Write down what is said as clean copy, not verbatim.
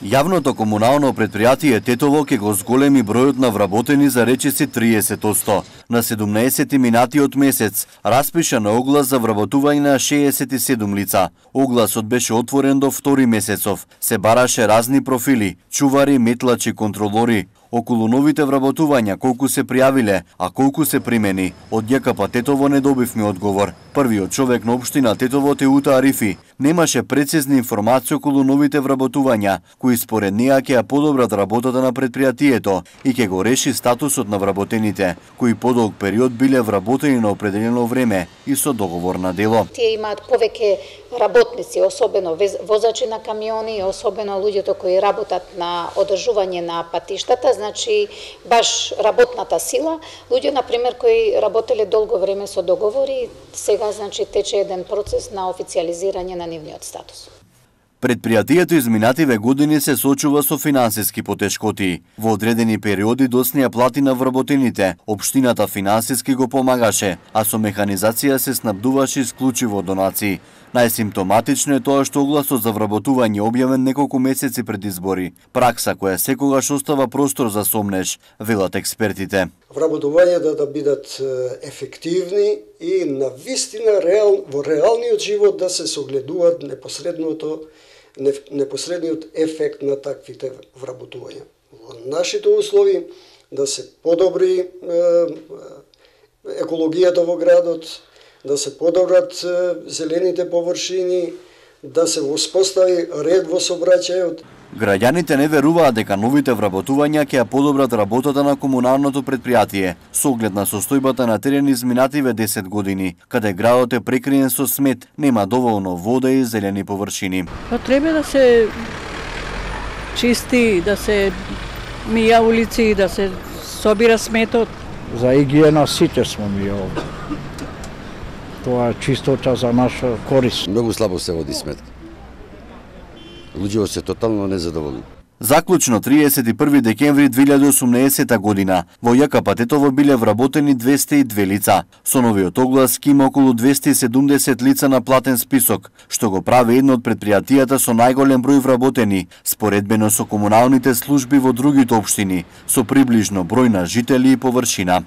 Јавното комунално предпријатие Тетово ќе го зголеми бројот на вработени за речиси 30%. На 17 минатиот месец распиша на оглас за вработување на 67 лица. Огласот беше отворен до 2 месецов. Се бараше разни профили: чувари, метлачи, контролори. Околу новите вработувања колку се пријавиле, а колку се примени, од ЈКП Тетово не добивме одговор. Првиот човек на општина Тетово, Теута Арифи, немаше прецизни информации околу новите вработувања, кои според неа ќе ја подобрат работата на предпријатието и ќе го реши статусот на вработените, кои подолг период биле вработени на определено време и со договор на дело. Тие имаат повеќе работници, особено возачи на камиони, особено луѓето кои работат на одржување на патиштата, значи баш работната сила, луѓе на пример кои работеле долго време со договори, сега значи тече еден процес на официализирање на нивниот статус. Предпријатието изминативе години се сочува со финансиски потешкоти. Во одредени периоди доснија плати на вработените, општината финансиски го помагаше, а со механизација се снабдуваше исклучиво од донации. Најсимптоматично е тоа што огласот за вработување објавен неколку месеци пред избори. Пракса која секогаш остава простор за сомнеж, велат експертите. Вработувањата да бидат ефективни и на вистина во реалниот живот да се согледуваат непосредниот ефект на таквите вработувања. Во нашите услови да се подобри екологијата во градот, да се подобрат зелените површини, да се воспостави ред во сообраќајот. Граѓаните не веруваат дека новите вработувања ќе ја подобрат работата на комуналното предпријатие, со оглед на состојбата на терен изминативе 10 години, каде градот е прекриен со смет, нема доволно вода и зелени површини. Треба да се чисти, да се мија улици, да се собира сметот. За игиена сите сме ми овде. Тоа е чистота за наша корист. Многу слабо се води сметка. Луѓето се тотално незадоволни. Заклучно 31 декември 2018 година во ЈКП Тетово биле вработени 202 лица. Со новиот оглас ке има околу 270 лица на платен список, што го прави едно од предпријатијата со најголем број вработени, споредбено со комуналните служби во другите општини, со приближно број на жители и површина.